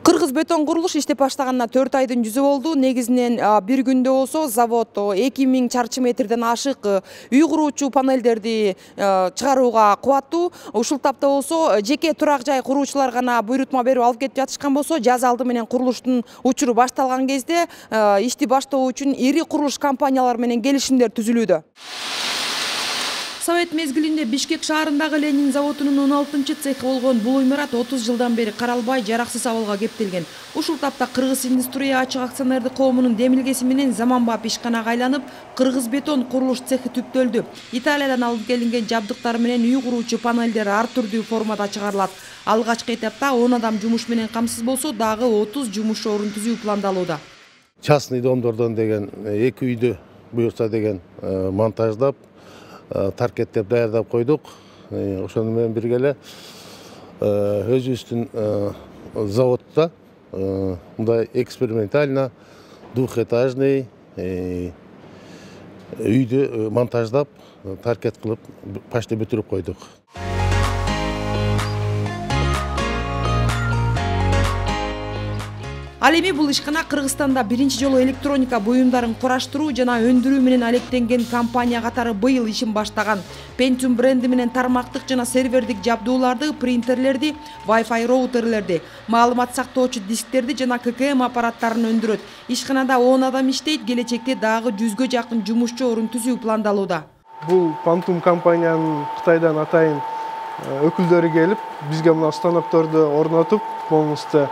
Кыргыз бетон курулуш иштеп баштаганына 4 айдын жүзү болду. Негизинен бир күндө болсо завод 2000 чарчы метрден ашык үй куруучу панелдерди чыгарууга кубаттуу. Ушул тапта болсо жеке турак жай куруучулар гана буйрутма берип алып кетип жатышкан болсо, жаз алды менен курулуштун учуру башталган кезде ишти баштоо үчүн ири курулуш компаниялары менен келишимдер түзүлүүдө. Совет мезгилинде Бишкек шаарындагы Ленин заводунун 16-цехи болгон бул имарат 30 жылдан бери каралбай, жараксыз абалга кептелген. Ушул тапта Кыргыз индустрия ачык акционердик коомунун демилгеси менен заманбап ишканага айланып, Кыргыз бетон курулуш цехи түптөлдү. Италиядан алып келинген жабдыктар менен үй куруучу панелдер ар түрдүү формада чыгарылат. Алгачкы этапта 10 адам жумуш менен камсыз болсо, дагы 30 жумуш орун түзүү пландалууда. Частный домдордон деген 2 үйдү буюрса деген монтаждап, таркеттеп даярдап койдук. Ошону менен бирге эле өзүбүздүн заводдо мындай экспериментально двухэтажный үйдү монтаждап, таркет кылып, почти бүтүрүп койдук. Ал эми бул ишкана Кыргызстанда биринчи жолу электроника буюмдарын кураштыруу жана өндүрүү менен алектенген компания катары быйыл ишин баштаган. Pentium бренди менен тармактык жана сервердик жабдууларды, принтерлерди, Wi-Fi роутерлерди, маалымат сактоочу дисктерди жана ККМ аппараттарын өндүрөт. Ишканада 10 адам иштейт, келечекте дагы 100гө жакын жумушчу орун түзүү пландалууда. Бул Pentium компаниянын Кытайдан атайын өкүлдөрү келип, бизге мына станокторду орнотуп, полностью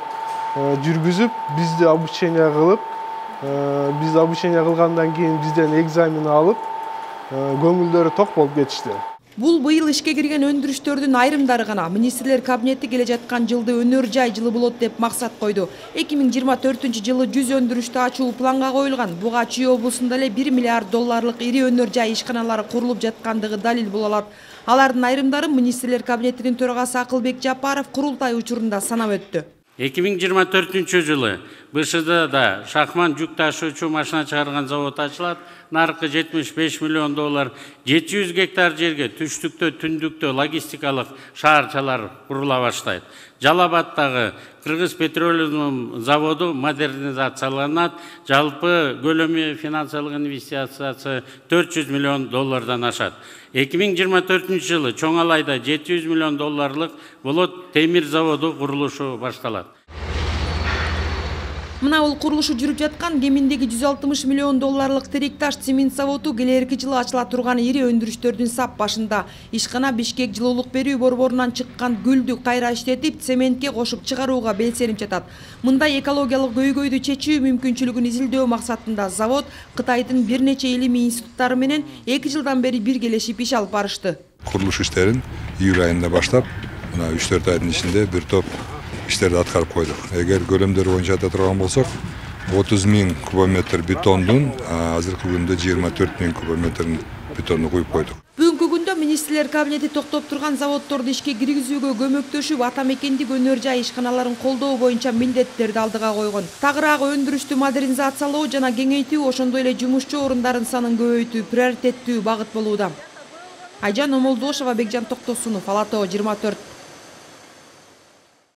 жүргүзүп, бизди обучение кылып, биз обучение кылгандан кийин бизден экзамен алып, көңүлдөрү ток болуп кетишти. Бул быйыл ишке кирген өндүрүштөрдүн айрымдары гана. Министрлер кабинети келе жаткан жылды өнөр жай жылы болот деп максат койду. 2024-жылы 100 өндүрүштү ачуу планга коюлган. Буга Чүй облусунда эле 1 миллиард долларлык ири өнөр жай ишканалары курулуп жаткандыгы далил боло алат. Алардын айрымдары Министрлер кабинетинин төрагасы Акылбек Жапаров курултай учурунда санап өттү. 2024-жылы БШДда Шахман жүк ташуучу машина чыгарган завод ачылат. Наркы 75 миллион доллар, 700 гектар жерге түштүктө, түндүктө логистикалык шаарчалар курула баштайт. Жалал-Абадтагы Кыргыз петролиум заводу модернизацияланат. Жалпы көлөмү финансылык инвестициясы 400 миллион доллардан ашат. 2024-жылы Чоңалайда 700 миллион долларлык болот темир заводу курулушу башталат. Мына бул курулушу жүрүп жаткан кеминдеги 160 миллион долларлык Теректаш цемент заводу келерки жылы ачыла турган ири өндүрүштөрдүн сап башында. Ишкана Бишкек жылуулук берүү борборунан чыккан гүлдү кайра иштетип, цементке кошуп чыгарууга белсенип жатат. Мындай экологиялык көйгөйдү чечүү мүмкүнчүлүгүн изилдөө максатында завод Кытайдын бир нече илимий институттары менен 2 жылдан бери биргелешип иш алып барышты. Курулуш иштерин июль айында баштап, мына 3-4 айдын ичинде бир топ иштерди аткарып койдук. Эгер көлөмдөр боюнча айта турган болсок, 30 000 кубометр бетондун азыркы күндө 24 000 кубометр бетонду куюп койдук. Бүгүнкү күндө Министрлер кабинети токтоп турган заводдорду ишке киргизүүгө көмөктөшүп, ата мекендик өнөр жай ишканаларын колдоо боюнча милдеттерди алдыга койгон. Тагыраагы өндүрүштү модернизациялоо жана кеңейтүү, ошондой эле жумушчу орундарын санын көбөйтүү приоритеттүү багыт болууда. Айжан Омолдошова, Бекжан Токтосунов, Ала Тоо 24.